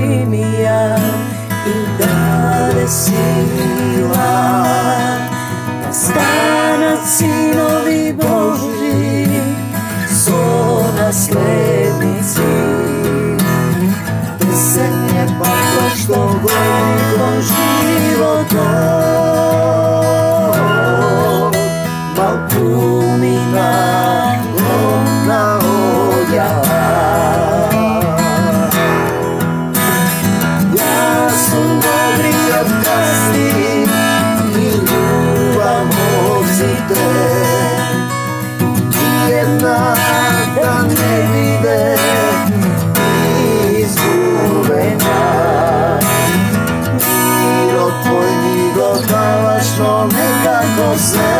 ми ја и даде сила да станат синови Божи со наследници. Десен е патот што води кон животот, балкумина громна оѓава. Јас сум добриот гастин и љубам овците, една да не биде изгубена. Мирот твој ми го даваш, но некако сето,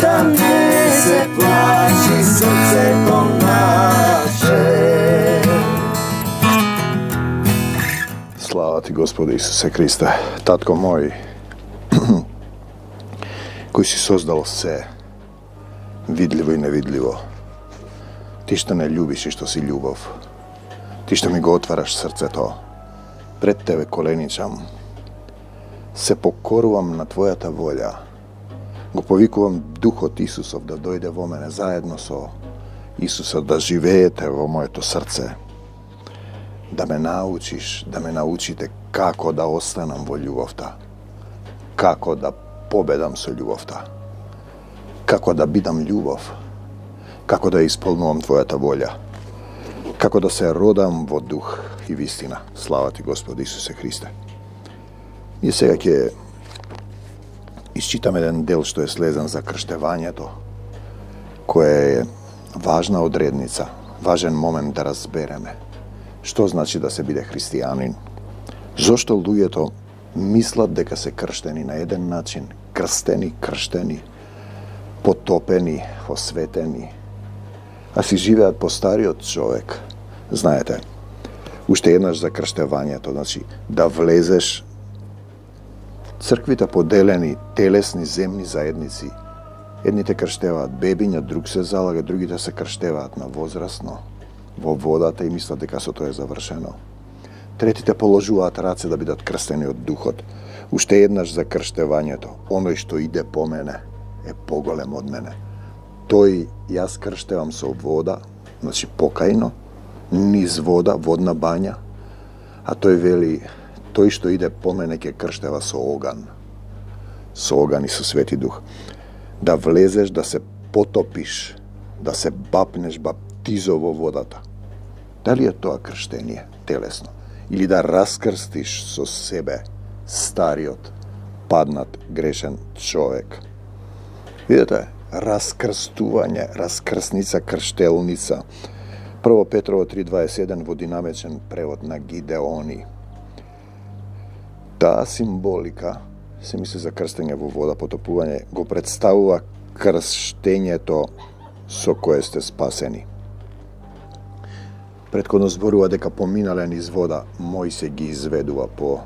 да не се плачи срцето наше. Слава ти, Господи Исусе Христе, Татко мој, кој си создал се, видливо и невидливо. Ти што не љубиш и што си љубов. Ти што ми го отвараш срцето. Пред Тебе коленичам. Се покорувам на Твојата волја. Го повикувам Духот Исусов да дојде во мене заедно со Исуса, да живеете во моето срце. Да ме научиш, да ме научите како да останам во љубовта. Како да победам со љубовта. Како да бидам љубов. Како да исполнувам Твојата волја. Како да се родам во дух и вистина. Слава ти, Господи Исусе Христе. Ние сега ќе исчитаме еден дел што е слезен за крштевањето, кој е важна одредница, важен момент да разбереме што значи да се биде христијанин. Зошто луѓето мислат дека се крштени на еден начин, крштени, потопени, осветени, а си живеат по стариот човек. Знаете, уште еднаш за крштевањето, значи да влезеш, црквите поделени телесни земни заедници. Едните крштеваат бебиња, друг се залага, другите се крштеваат на возрасно во водата и мислат дека со тоа е завршено. Третите положуваат раце да бидат крстени од Духот. Уште еднаш за крштевањето. Оној што иде по мене е поголем од мене. Тој јас крштевам со вода, значи покајно, низ вода, водна бања, а тој вели, тој што иде по мене ќе крштева со оган и со Свети Дух. Да влезеш, да се потопиш, да се бапнеш баптизо во водата. Дали е тоа крштение телесно? Или да раскрстиш со себе стариот, паднат, грешен човек? Видете, раскрстување, раскрсница, крштелница. 1 Петрово 3.21 во динамичен превод на Гидеони. Таа символика, се мисли за крстење во вода, потопување, го представува крштењето со кое сте спасени. Претходно зборува дека поминале низ вода, Мојсе ги изведува по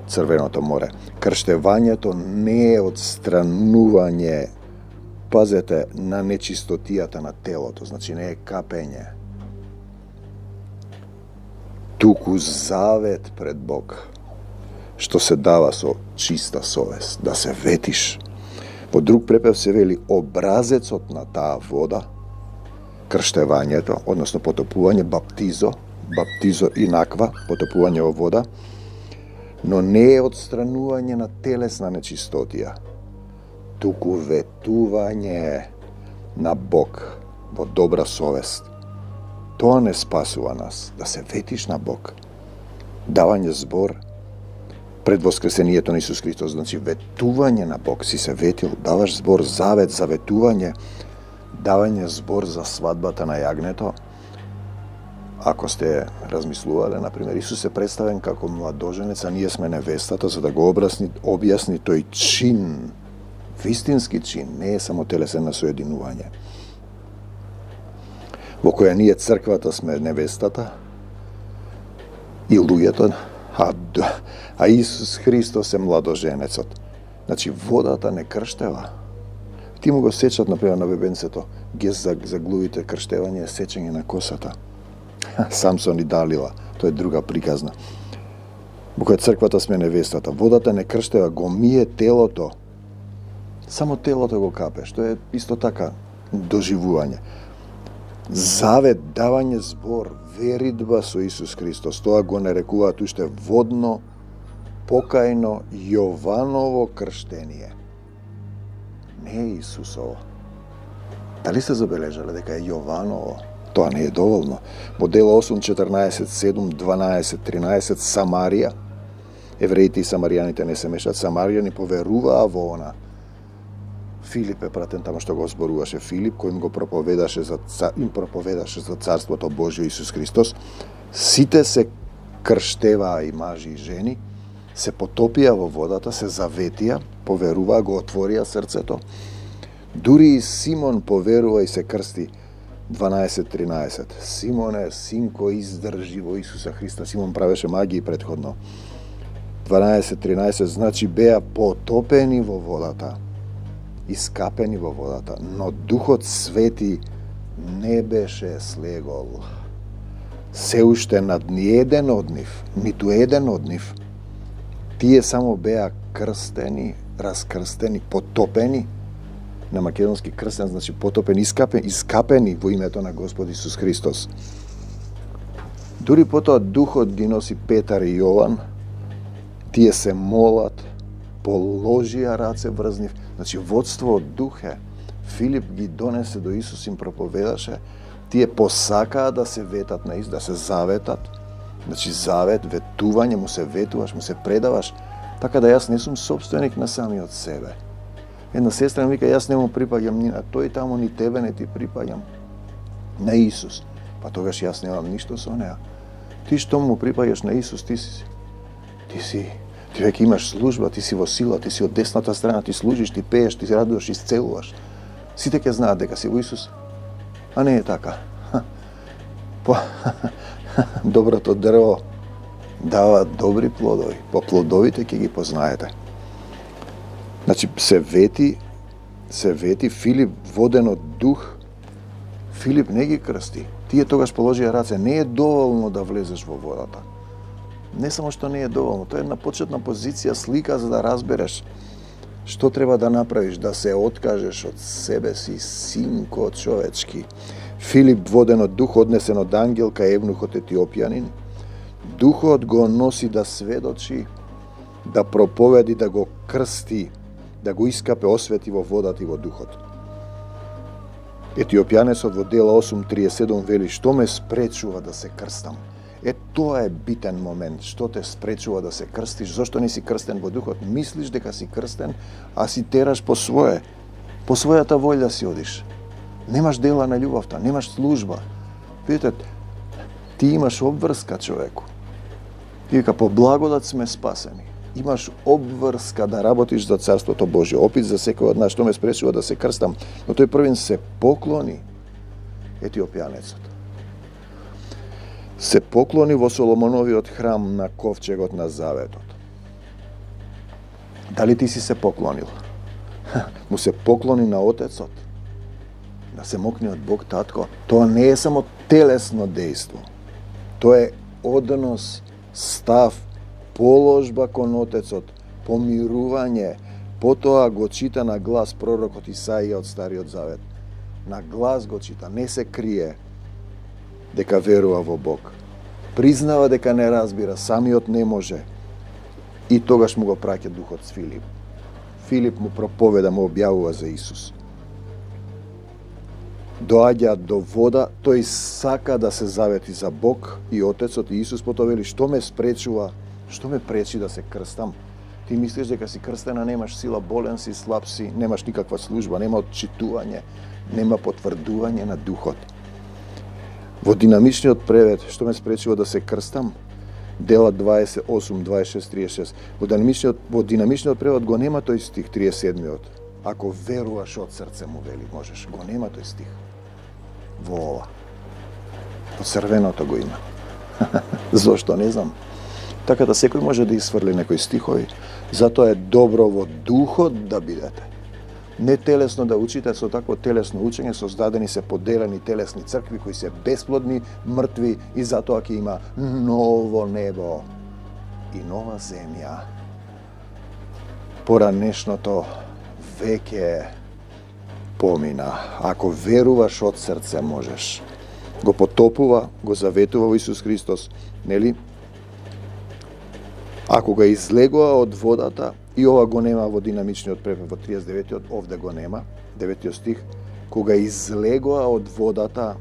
Црвеното море. Крштевањето не е одстранување, пазете, на нечистотијата на телото, значи не е капење. Туку завет пред Бог, што се дава со чиста совест, да се ветиш. Во друг препев се вели образецот на таа вода, крштевањето, односно потопување, баптизо инаква, потопување во вода, но не е одстранување на телесна нечистотија, туку ветување на Бог во добра совест. Тоа не спасува нас, да се ветиш на Бог. Давање збор пред воскресението на Исус Христос, значи ветување на Бог, си се ветил, даваш збор, завет, заветување, давање збор за свадбата на јагнето. Ако сте размислувале, например, Исус е представен како младоженец, а ние сме невестата, за да го објасни тој чин, вистински чин, не е само телесено соединување, во која ние црквата сме невестата и луѓето, а Исус Христос е младоженецот. Значи, водата не крштева. Ти му го сечат, например, на бебенцето, ги заглувите крштевање, сечење на косата. Самсон и Далила, тоа е друга приказна. Во која црквата сме невестата. Водата не крштева, го мие телото. Само телото го капе, што е исто така доживување. Завет, давање збор, веридба со Исус Христос. Тоа го нарекуваат уште водно, покајно Јованово крштение. Не е Исусово. Дали сте забележале дека е Јованово? Тоа не е доволно. Во Дела 8, 14, 7, 12, 13, Самарија. Евреите и самаријаните не се мешат. Самаријани поверуваа во она. Филип е пратен тамо што го зборуваше Филип, кој им проповедаше за Царството Божјо Исус Христос. Сите се крштеваа и мажи и жени, се потопија во водата, се заветија, поверуваа, го отворија срцето. Дури и Симон поверува и се крсти. 12.13. Симоне, синко, издржи во Исуса Христа. Симон правеше магии предходно. 12.13. Значи беа потопени во водата, искапени во водата, но Духот Свети не беше слегол. Се уште над ниеден од нив, ниту еден од нив. Тие само беа крстени, раскрстени, потопени. На македонски крстен значи потопени, искапени во името на Господ Исус Христос. Дури потоа Духот ги носи Петар и Јован. Тие се молат, положија раце врз нив. Значи водство од Дух е. Филип ги донесе до Исус, им проповедаше. Тие посакаа да се ветат на Исус, да се заветат. Значи завет, ветување, му се ветуваш, му се предаваш. Така да јас не сум собственик на самиот себе. Една сестра ми вика, јас не му припаѓам ни на тој таму, ни тебе не ти припаѓам. На Исус. Па тогаш јас немам ништо со неа. Ти што му припаѓаш на Исус, ти веќе имаш служба, ти си во сила, ти си од десната страна, ти служиш, ти пееш, ти се радуваш, исцелуваш. Сите ќе знаат дека си во Исус. А не е така. Доброто дрво дава добри плодови. По плодовите ќе ги познаете. Значи, се вети Филип воден од Дух. Филип не ги крсти. Тие тогаш положија раце. Не е доволно да влезеш во водата. Не само што не е доволно, тоа е една почетна позиција, слика за да разбереш што треба да направиш, да се откажеш од себе си, синко човечки. Филип воден од Дух, однесен од ангел кај евнухот етиопјанин. Духот го носи да сведочи, да проповеди, да го крсти, да го искапе, освети во водата и во Духот. Етиопјанецот во Дела 8.37 вели, што ме спречува да се крстам? Тоа е битен момент, што те спречува да се крстиш, зошто не си крстен во Духот? Мислиш дека си крстен, а си тераш по својата волја си одиш. Немаш дела на љубовта, немаш служба. Видите, ти имаш обврска, човеку. Ти вика, по благодат сме спасени. Имаш обврска да работиш за Царството Божје. Опит за секој од нас, што ме спречува да се крстам. Но тој првин се поклони, етиопјанецот. Се поклони во Соломоновиот храм на ковчегот на заветот. Дали ти си се поклонил? Му се поклони на Отецот. Да се мокни од Бог Татко. Тоа не е само телесно дејство. Тоа е однос, став, положба кон Отецот, помирување. Потоа го чита на глас пророкот Исаија од Стариот Завет. На глас го чита, не се крие дека верува во Бог. Признава дека не разбира, самиот не може. И тогаш му го праќа Духот с Филип. Филип му проповеда, му објавува за Исус. Доаѓа до вода, тој сака да се завети за Бог и Отецот и Исус потоа вели, што ме спречува, што ме пречи да се крстам? Ти мислиш дека си крстена, немаш сила, болен си, слаб си, немаш никаква служба, нема отчитување, нема потврдување на Духот. Во динамичниот превед, што ме спречува да се крстам? Дела 28, 26, 36. Во динамичниот превод го нема тој стих 37-миот. Ако веруваш од срце му вели, можеш. Го нема тој стих. Во ова. Во црвеното го има. Зошто не знам. Така да секој може да изфрли некои стихови. Затоа е добро во Духот да бидете. Не телесно да учите, со такво телесно учење создадени се поделени телесни цркви кои се бесплодни, мртви и затоа ќе има ново небо и нова земја. Поранешното веќе помина. Ако веруваш од срце можеш. Го потопува, го заветува во Исус Христос, нели? Ако го излегува од водата, и ова го нема во динамичниот препев во 39-тиот, овде го нема, 9-тиот стих, кога излегува од водата,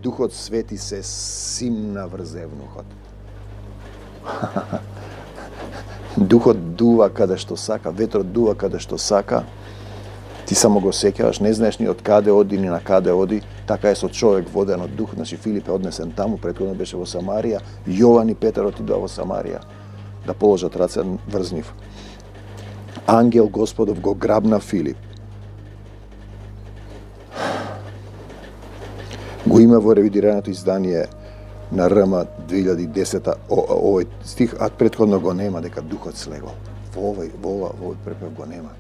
Духот Свети се симна врз евнухот. Духот дува каде што сака, ветрот дува каде што сака, ти само го сеќаваш, не знаеш ни од каде оди, ни на каде оди, така е со човек воден од дух, значи Филип е однесен таму, претходно беше во Самарија, Јован и Петар отидоа во Самарија да положат раце врз нив. Ангел Господов го грабна Филип. Го има во ревидираното издание на РМ 2010 овој стих, а претходно го нема дека Духот слегол. Во овој препев го нема.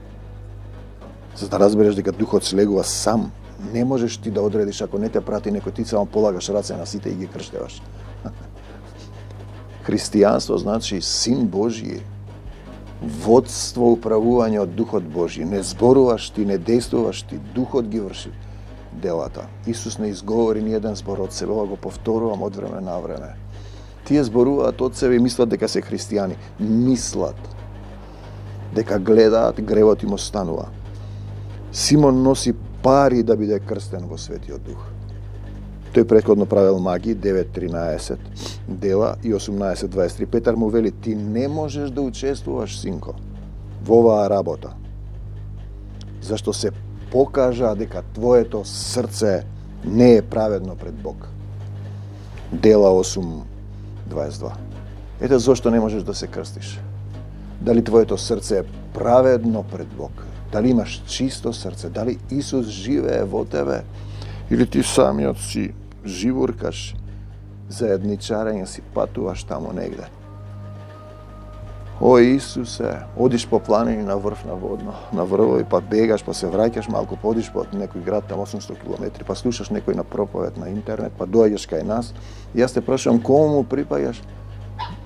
За да разбереш дека Духот слегува сам, не можеш ти да одредиш ако не те прати некој, ти само полагаш раце на сите и ги крштеваш. Христијанство значи Син Божји, водство, управување од Духот Божји. Не зборуваш ти, не действуваш ти, Духот ги врши делата. Исус не изговори ни еден збор од себе, ова го повторувам од време на време. Тие зборуваат од себе и мислат дека се христијани. Мислат дека гледаат, гревот им останува. Симон носи пари да биде крстен во Светиот Дух. Тој претходно правил маги, 9.13 дела и 18.23. Петар му вели, ти не можеш да учествуваш, синко, во оваа работа, зашто се покажа дека твоето срце не е праведно пред Бог. Дела 8.22. Ете зошто не можеш да се крстиш. Дали твоето срце е праведно пред Бог? Дали имаш чисто срце? Дали Исус живее во тебе? Или ти самиот си живуркаш, заедничарење си патуваш таму негде? О, Исусе, одиш по планини на врв на врвови, па бегаш, па се враќаш малку, па одиш по некој град там 800 км, па слушаш некој на проповед на интернет, па доаѓаш кај нас, и јас те прашувам кому му припаѓаш?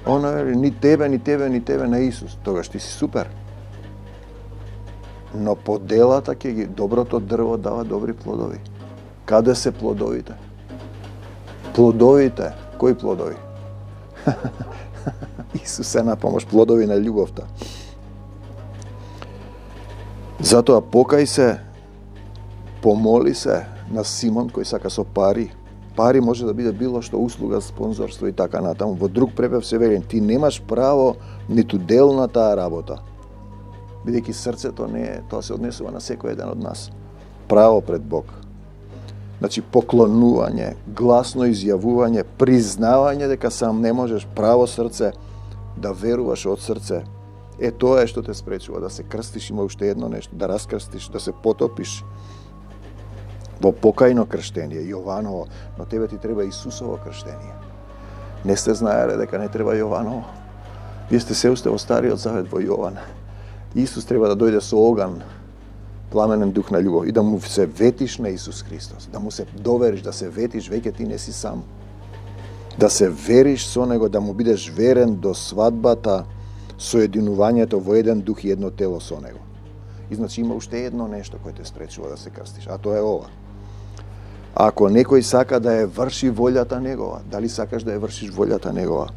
Она вели, ни тебе, на Исус. Тогаш ти си супер. Но по делата ќе ги, доброто дрво дава добри плодови. Каде се плодовите? Плодовите, кои плодови? Исус е на помош, плодови на љубовта. Затоа покај се, помоли се на Симон кој сака со пари. Пари може да биде било што, услуга, спонзорство и така натаму. Во друг препев се вели, ти немаш право ниту дел на таа работа. Бидејќи срцето не е, тоа се однесува на секој еден од нас. Право пред Бог. Значи, поклонување, гласно изјавување, признавање дека сам не можеш, право срце, да веруваш од срце. Е, тоа е што те спречува да се крстиш, има уште едно нешто, да раскрстиш, да се потопиш во покајно крштение, Јованово, но тебе ти треба Исусово крштение. Не сте знаеле дека не треба Јованово? Вие сте се уште во Стариот Завет во Јован. Исус треба да дојде со оган, пламенен дух на љубов и да му се ветиш на Исус Христос, да му се довериш, да се ветиш, веќе ти не си сам. Да се вериш со него, да му бидеш верен до свадбата, соединувањето во еден дух и едно тело со него. И значи има уште едно нешто кое те спречува да се крстиш, а тоа е ова. Ако некој сака да ја врши волјата негова, дали сакаш да ја вршиш волјата негова,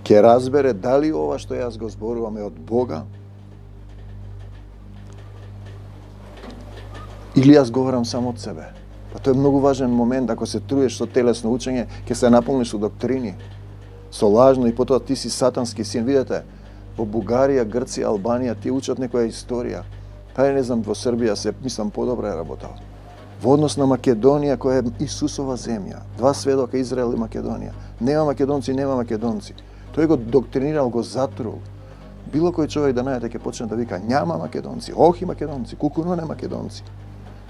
ќе разбере дали ова што јас го зборувам е од Бога, или јас говорам само од себе. Па тоа е многу важен момент, ако се труеш со телесно учење, ќе се наполниш со доктрини, со лажно и потоа ти си сатански син. Видете, во Бугарија, Грција, Албанија, тие учат некоја историја. Па не знам, во Србија се, мислам, подобро е работал. Во однос на Македонија, која е Исусова земја, два сведока, Израел и Македонија. Нема македонци. Тој го доктринирал, го затрул. Било кој човек да најде ќе почне да вика, няма македонци, охи македонци, кукуно не македонци.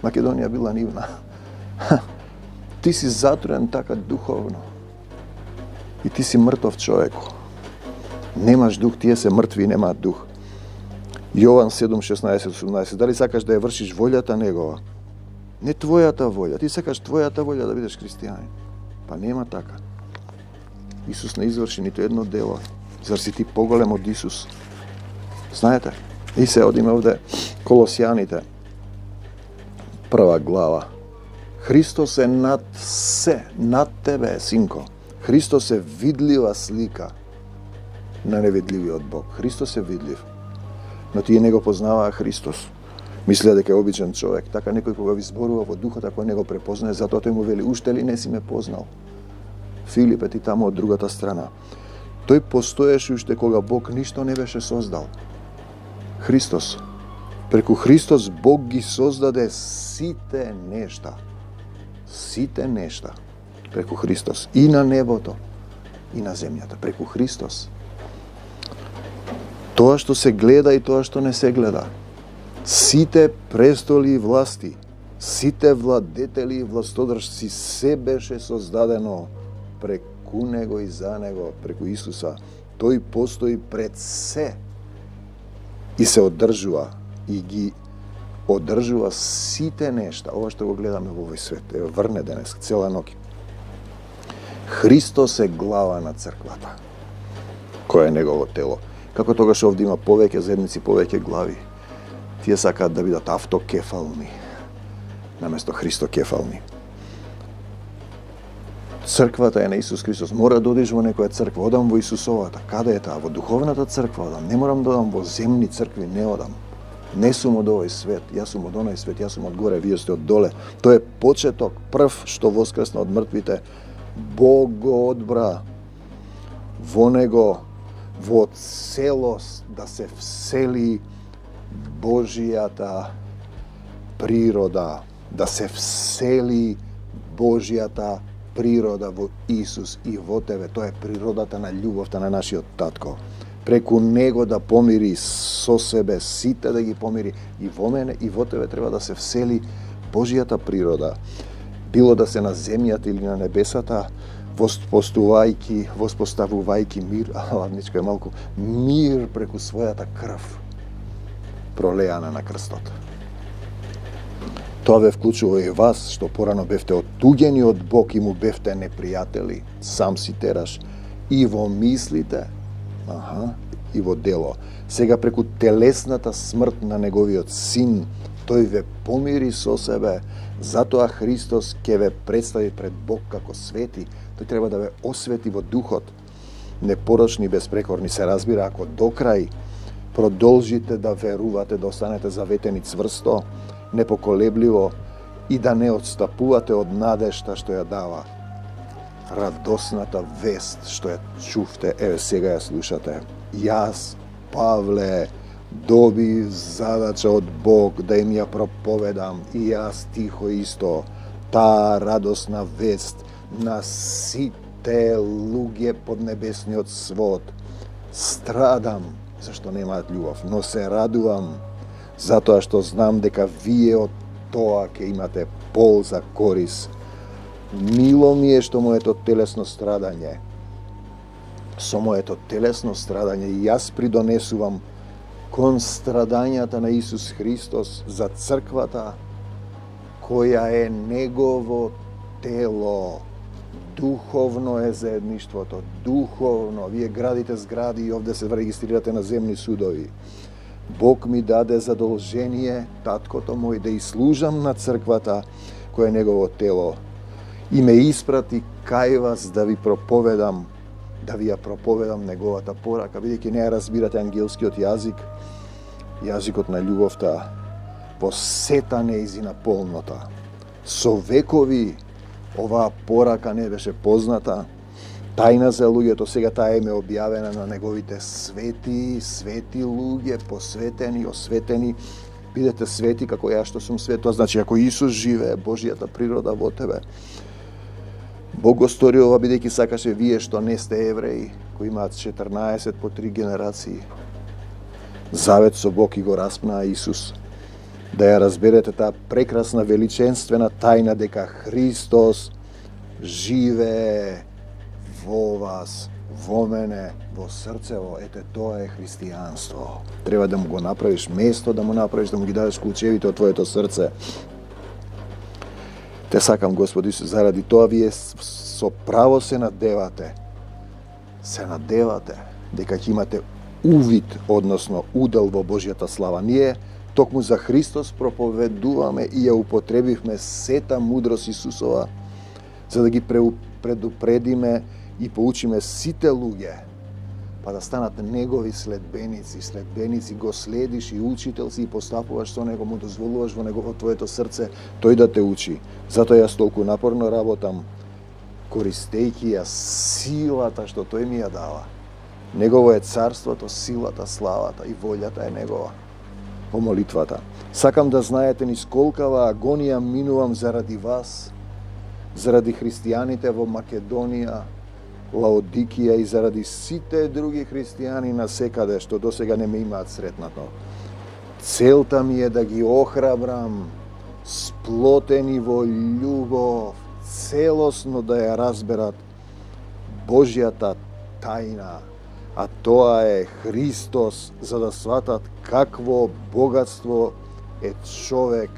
Македонија била нивна. Ти си затруен така духовно. И ти си мртов човек. Немаш дух, тие се мртви и немаат дух. Јован 7:16-18. Дали сакаш да ја вршиш волјата негова? Не твојата волја. Ти сакаш твојата волја да бидеш христијанин. Па нема така. Исус не изврши ниту едно дело. Зар си ти поголем од Исус? Знаете? И се одиме овде Колосјаните. 1 глава. Христос е над се, над тебе, синко. Христос е видлива слика на невидливиот Бог. Христос е видлив. Но тие не го познаваа Христос. Мислеа дека е обичен човек. Така некој кога ви зборува во духот, ако не го препознае, затоа тој му вели, уште ли не си ме познал? Филипе, ти таму од другата страна. Тој постоеше уште кога Бог ништо не беше создал. Христос. Преку Христос Бог ги создаде сите нешта. Сите нешта. Преку Христос. И на небото, и на земјата. Преку Христос. Тоа што се гледа и тоа што не се гледа. Сите престоли и власти, сите владетели и властодржци, се беше создадено преку Него и за Него, преку Исуса. Тој постои пред се и се одржува и ги одржува сите нешта. Ова што го гледаме во овој свет, е врне денес, цела ноќ. Христос е глава на црквата, која е Негово тело. Како тогаш овде има повеќе заедници, повеќе глави. Тие сакаат да бидат автокефални, наместо христокефални. Црквата е на Исус Христос. Мора да одиш во некоја црква. Одам во Исусовата. Каде е таа? Во духовната црква одам. Не морам да одам во земни цркви, не одам. Не сум од овој свет, јас сум од оној свет, јас сум од горе, вие сте од доле. Тој е почеток, прв што воскресна од мртвите. Бог го одбра во Него, во целост да се всели Божијата природа, да се всели Божијата природа во Исус и во тебе. Тоа е природата на љубовта на нашиот татко. Преку Него да помири со себе, сите да ги помири. И во мене и во тебе треба да се всели Божијата природа. Било да се на земјата или на небесата, воспоставувајќи мир, ладничко е малку, мир преку својата крв, пролеана на крстот. Тоа ве вклучува и вас, што порано бевте оттуѓени од Бог и му бевте непријатели, сам си тераш, и во мислите, и во дело. Сега преку телесната смрт на Неговиот Син, тој ве помири со себе, затоа Христос ќе ве представи пред Бог како свети. Тој треба да ве освети во духот, непорочни, безпрекорни. Се разбира, ако до крај продолжите да верувате, да останете заветени цврсто, непоколебливо и да не отстапувате од надежта што ја дава радосната вест што ја чувте, еве сега ја слушате. Јас, Павле, добив задача од Бог да им ја проповедам и јас тихо исто таа радосна вест на сите луѓе под небесниот свод. Страдам зашто немаат љубов, но се радувам затоа што знам дека вие од тоа ќе имате полза, корис. Мило ми е што моето телесно страдање. Со моето телесно страдање јас придонесувам кон страдањата на Исус Христос за црквата која е Негово тело. Духовно е заедништвото, духовно. Вие градите згради и овде се регистрирате на земни судови. Бог ми даде задолжение, таткото мој, да служам на црквата која е Негово тело и ме испрати кај вас да ви проповедам, да ви ја проповедам Неговата порака, бидејќи не ја разбирате ангелскиот јазик, јазикот на љубовта во сета нејзина полнота. Со векови оваа порака не беше позната, тајна за луѓето, сега таа е објавена на Неговите свети луѓе, посветени, осветени. Бидете свети како јас што сум свет. Тоа значи ако Исус живее, Божијата природа во тебе. Бог го стори ова бидејќи сакаше вие што не сте евреи, кои имаат 14 по 3 генерации, завет со Бог и го распнаа Исус. Да ја разберете таа прекрасна величенствена тајна дека Христос живее во вас, во мене, во срцево, ете тоа е христијанство. Треба да му го направиш место, да му направиш, да му ги дадеш клучевите од твоето срце. Те сакам, Господи Исус, заради тоа вие со право се надевате. Се надевате дека ќе имате увид, односно удел во Божјата слава. Ние токму за Христос проповедуваме и ја употребивме сета мудрост Исусова, за да ги предупредиме и поучиме сите луѓе, па да станат негови следбеници. Следбеници го следиш и учител си и постапуваш со него, му дозволуваш во негово твоето срце тој да те учи. Затоа јас толку напорно работам, користејќи ја силата што тој ми ја дава. Негово е царството, силата, славата и волјата е негова. Во молитвата. Сакам да знаете низ колкава агонија минувам заради вас, заради христијаните во Македонија, Лаодикија и заради сите други христијани на секаде што досега не ме имаат сретнато. Целта ми е да ги охрабрам, сплотени во љубов, целосно да ја разберат Божјата тајна, а тоа е Христос, за да сватат какво богатство е човек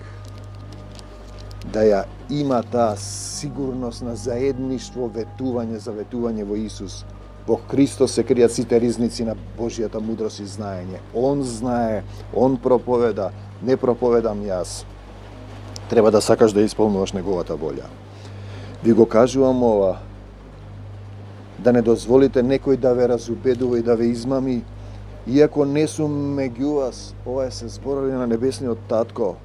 да ја има таа сигурност на заедништво, заветување во Исус. Во Христос се кријат сите ризници на Божјата мудрост и знаење. Он знае, Он проповеда, не проповедам јас. Треба да сакаш да исполнуваш неговата волја. Ви го кажувам ова, да не дозволите некој да ве разубедува и да ве измами, иако не сум меѓу вас. Ова е се зборови на небесниот татко.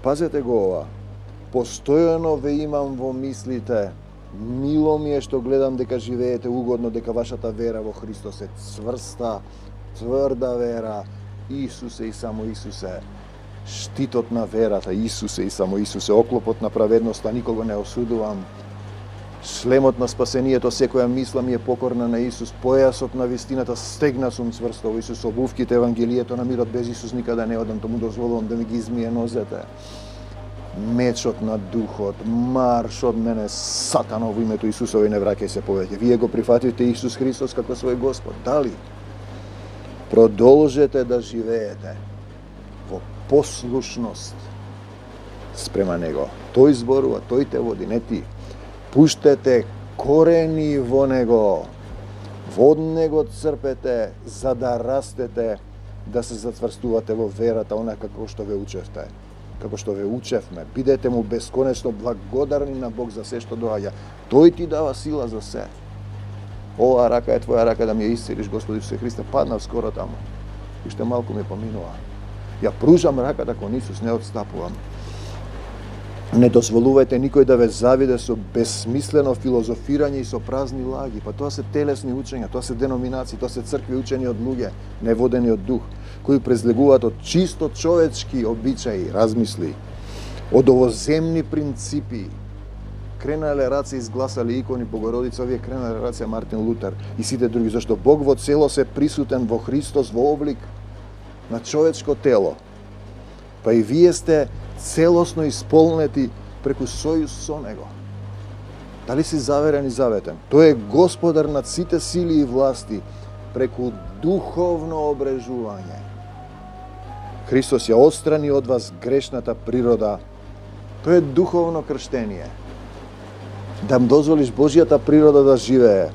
Пазете го ова. Постојано ве имам во мислите. Мило ми е што гледам дека живеете угодно, дека вашата вера во Христос е цврста, тврда вера. Исусе и само Исусе. Штитот на верата, Исусе и само Исусе. Оклопот на праведноста, никого не осудувам. Шлемот на спасението, секоја мисла ми е покорна на Исус. Појасот на вистината, стегна сум цврсто во Исус. Обувките Евангелието на мирот, без Исус никаде не одам, тому дозволувам да ми ги измие нозете. Мечот на духот, марш од мене, сатано, во името Исусово и не враќај се повеќе. Вие го прифатите Исус Христос како свој Господ. Дали? Продолжете да живеете во послушност спрема Него. Тој зборува, тој те води, не ти. Пуштете корени во Него. Од Него црпете, за да растете, да се зацврстувате во верата, онака како што ве учевте. Како што ве учевме, бидете му бесконечно благодарни на Бог за се што доаѓа. Тој ти дава сила за се. Ова рака е твоја рака да ми ја исцелиш, Господи Исусе Христе, паднав скоро таму. Уште малку ми поминува. Ја пружам раката кон Исус, не отстапувам. Не дозволувајте никој да ве завиде со безсмислено филозофирање и со празни лаги. Па тоа се телесни учења, тоа се деноминации, тоа се цркви учени од луѓе, не водени од дух, кои презлегуваат од чисто човечки обичаи, размисли, од овоземни принципи. Кренале раце изгласали икони Богородица, овие кренале раце Мартин Лутер и сите други, зашто Бог во целост е присутен во Христос во облик на човечко тело. Па и вие сте целосно исполнети преку сојуз со Него. Дали си заверен и заветен? Тој е Господар над сите сили и власти преку духовно обрежување. Христос ја отстрани од вас грешната природа. Тоа е духовно крштение. Да му дозволиш Божјата природа да живее.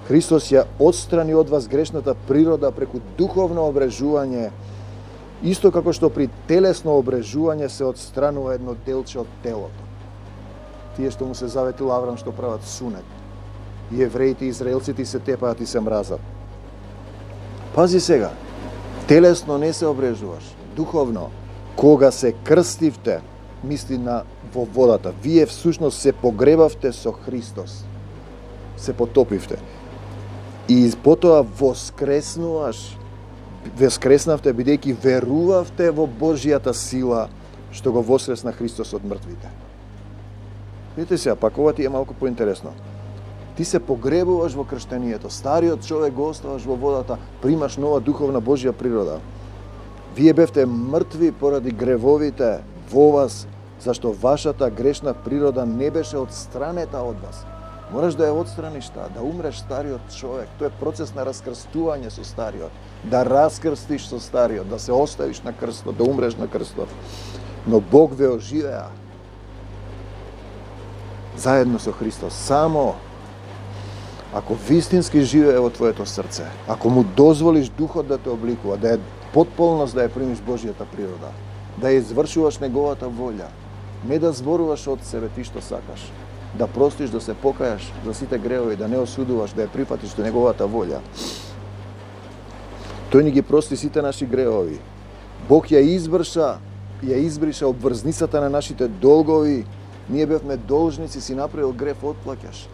Христос ја отстрани од вас грешната природа преку духовно обрежување. Исто како што при телесно обрежување се отстранува едно делче од телото. Тие што му се заветил Аврам што прават сунет. И евреите и израелците се тепаат и се мразат. Пази сега, телесно не се обрежуваш, духовно. Кога се крстивте, мисли на во водата, вие всушност се погребавте со Христос. Се потопивте. И потоа воскреснавте бидејќи верувавте во Божјата сила што го воскресна Христос од мртвите. Видите сега, пак ова ти е малку поинтересно. Ти се погребуваш во крштението, стариот човек го оставаш во водата, примаш нова духовна Божја природа. Вие бевте мртви поради гревовите во вас, зашто вашата грешна природа не беше отстранета од вас. Мораш да ја отстраниш таа, да умреш стариот човек. Тоа е процес на раскрстување со стариот. Да раскрстиш со стариот, да се оставиш на крстот, да умреш на крстот. Но Бог ве оживеа заедно со Христос. Само ако вистински живее во твоето срце, ако му дозволиш Духот да те обликува, да е потполност да ја примиш Божјата природа, да ја извршуваш неговата волја, не да зборуваш од себе ти што сакаш, да простиш, да се покајаш за сите гревови, да не осудуваш, да ја прифатиш до неговата волја. Тој ни ги прости сите наши гревови. Бог ја избриша обврзницата на нашите долгови. Ние бевме должници, си направил грев, отплаќаш.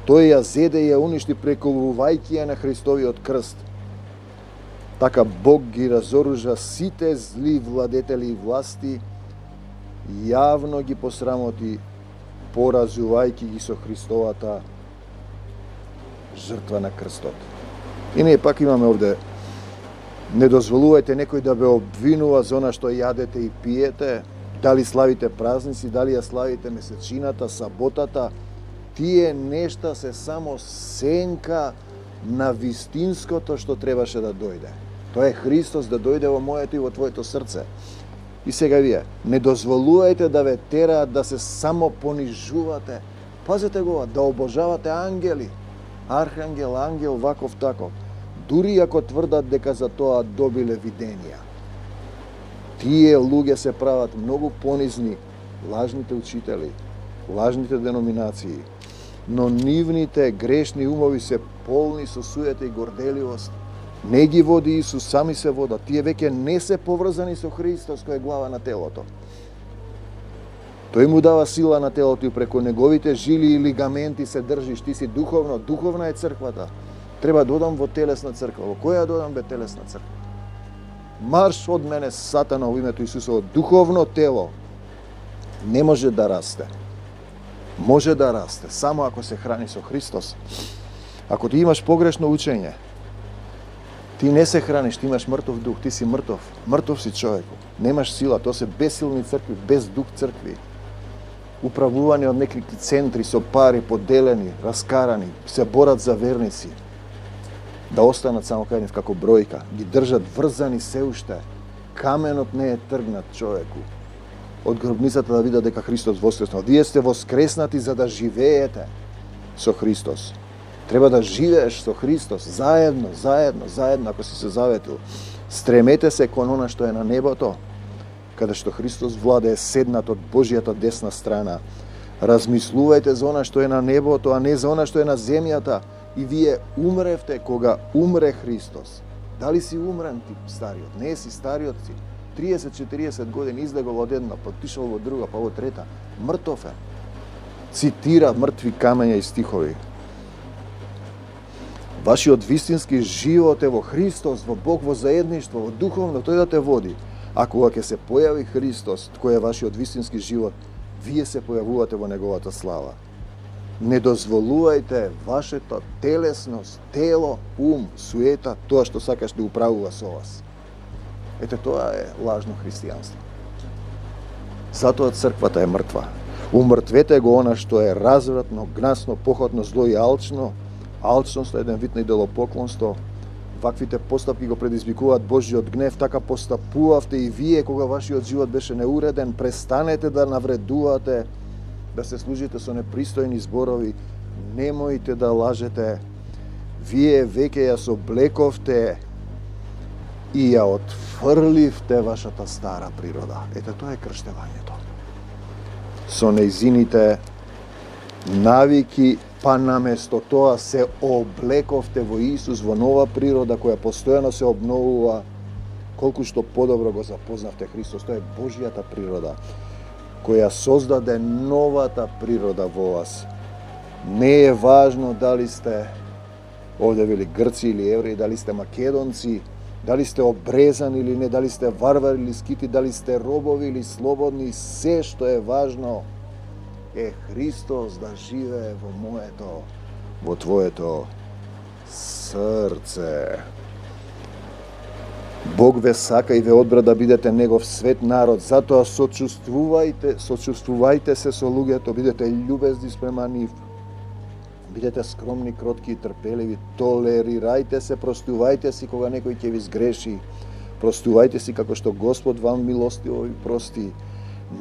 Тој ја зеде и ја уништи преколувајќи ја на Христовиот крст. Така Бог ги разоружа сите зли владетели и власти, јавно ги посрамоти, поразувајќи ги со Христовата жртва на крстот. И ние пак имаме овде: не дозволувајте некој да ве обвинува за она што јадете и пиете, дали славите празници, дали ја славите месечината, саботата. Тие нешта се само сенка на вистинското што требаше да дојде. Тоа е Христос да дојде во моето и во твоето срце. И сега вие, не дозволувајте да ве тераат да се само понижувате. Пазете го, да обожавате ангели, архангел, ангел, ваков таков. Дури ако тврдат дека за тоа добиле виденија. Тие луѓе се прават многу понизни, лажните учители, лажните деноминации, но нивните грешни умови се полни со суета и горделивост. Не ги води Исус, сами се водат. Тие веќе не се поврзани со Христос, кој е глава на телото. Тој му дава сила на телото и преку неговите жили и лигаменти се држиш. Ти си духовно, духовна е црквата. Треба да одам во телесна црква. Во која да одам бе телесна црква? Марш од мене, Сатана, во името Исусово. Духовно тело не може да расте. Може да расте само ако се храни со Христос. Ако ти имаш погрешно учење, ти не се храниш, ти имаш мртов дух, ти си мртов. Мртов си човеку. Немаш сила, тоа се безсилни цркви, без дух цркви. Управувани од некакви центри со пари, поделени, раскарани, се борат за верници. Да останат само кај нив како бројка. Ги држат врзани се уште. Каменот не е тргнат човеку. Од гробницата да видат дека Христос воскреснал. Вие сте воскреснати за да живеете со Христос. Треба да живееш со Христос заедно, ако си се заветил. Стремете се кон она што е на небото, каде што Христос владее седнат од Божјата десна страна. Размислувајте за она што е на небото, а не за она што е на земјата. И вие умревте кога умре Христос. Дали си умрен ти, стариот? Не си стариот си. 30-40 години излегол од една, потишал во друга, па во трета. Мртов е. Цитира мртви камења и стихови. Вашиот вистински живот е во Христос, во Бог, во заедништво, во духовно, тој да те води. А кога ќе се појави Христос, кој е вашиот вистински живот, вие се појавувате во неговата слава. Не дозволувајте вашето телесност, тело, ум, суета, тоа што сакаш да управува со вас. Ете, тоа е лажно христијанство. Затоа црквата е мртва. Умртвете го она што е развратно, гнасно, похотно, зло и алчно. Алчност е еден вид на идолопоклонство. Ваквите постапки го предизвикуваат Божјиот гнев, така постапувавте и вие кога вашиот живот беше неуреден. Престанете да навредувате, да се служите со непристојни зборови, немојте да лажете. Вие веќе ја соблековте и ја отфрливте вашата стара природа. Ете, тоа е крштевањето. Со нејзините навики, па наместо тоа се облековте во Исус, во нова природа која постојано се обновува. Колку што подобро го запознавте Христос, тоа е Божјата природа, која создаде новата природа во вас. Не е важно дали сте, овде вели Грци или евреи, дали сте македонци, дали сте обрезани или не, дали сте варвари или скити, дали сте робови или слободни, се што е важно е Христос да живее во моето, во твоето срце. Бог ве сака и ве одбра да бидете негов свет народ, затоа сочувствувајте се со луѓето, бидете љубезни спрема нив. Бидете скромни, кротки и трпеливи, толерирајте се, простувајте си кога некој ќе ви сгреши. Простувајте си како што Господ вам милостиво ви прости.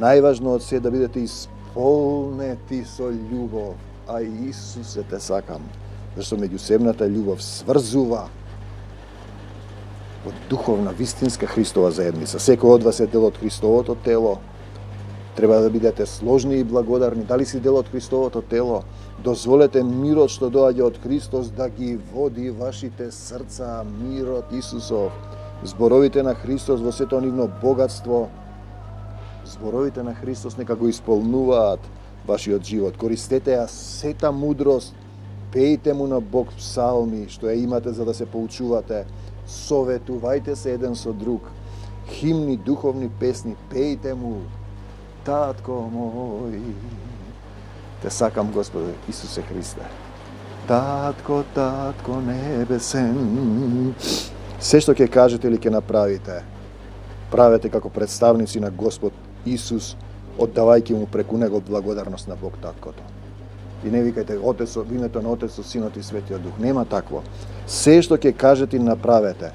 Најважно од се да бидете исполнети со љубов, а Исусе те сакам, зашто меѓусебната љубов сврзува од духовна, вистинска Христова заедница. Секој од вас е дел од Христовото тело. Треба да бидете сложни и благодарни. Дали си дел од Христовото тело? Дозволете мирот што доаѓа од Христос да ги води вашите срца, мирот Исусов. Зборовите на Христос во сето нивно богатство, зборовите на Христос нека го исполнуваат вашиот живот. Користете ја сета мудрост, пејте му на Бог псалми, што ја имате за да се поучувате. Советувајте се еден со друг. Химни, духовни песни, пејте му. Татко мој, те сакам, Господе Исусе Христе. Татко, татко небесен. Се што ќе кажете или ќе направите, правете како представници на Господ Исус, оддавајќи му преку него благодарност на Бог Таткото. И не викајте Отецот, во името на Отецот, Синот и Светиот Дух. Нема такво. Се што ќе кажете и направете,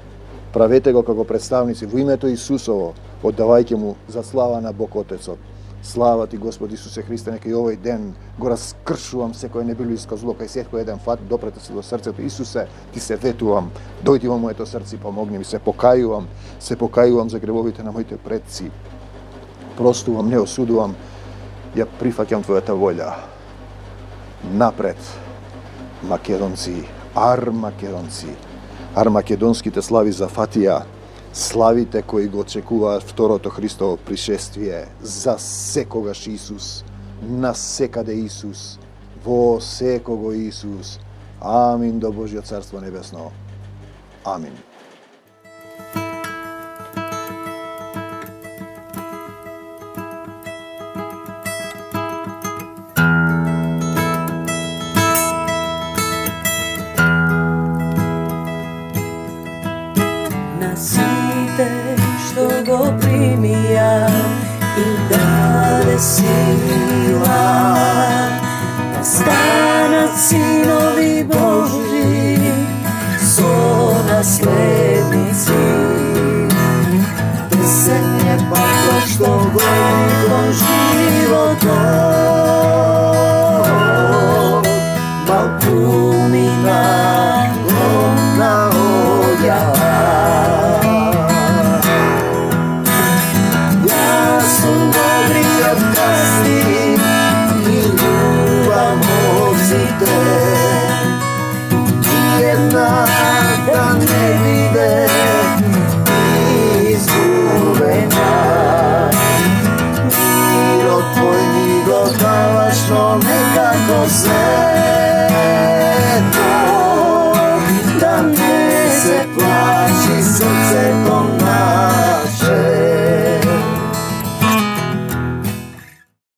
правете го како представници во името Исусово, оддавајќи му за слава на Бог Отецот. Слава ти, Господ Исусе Христе, нека и овој ден го раскршувам секој небелиска зло, кај секој еден фат, допрете се до срцето. Исусе, ти се ветувам, дојди во моето срце и помогни ми, се покајувам за гревовите на моите предци. Простувам, не осудувам, ја прифаќам твојата волја. Напред, македонци, армакедонските слави за фатија, славите кои го очекуваат второто Христово пришествие, за секогаш Исус, на секаде Исус, во секого Исус. Амин до Божјо Царство Небесно. Амин. Сите што го примија и даде сила да станат синови Божи со наследници. Десен е патот што го кон животот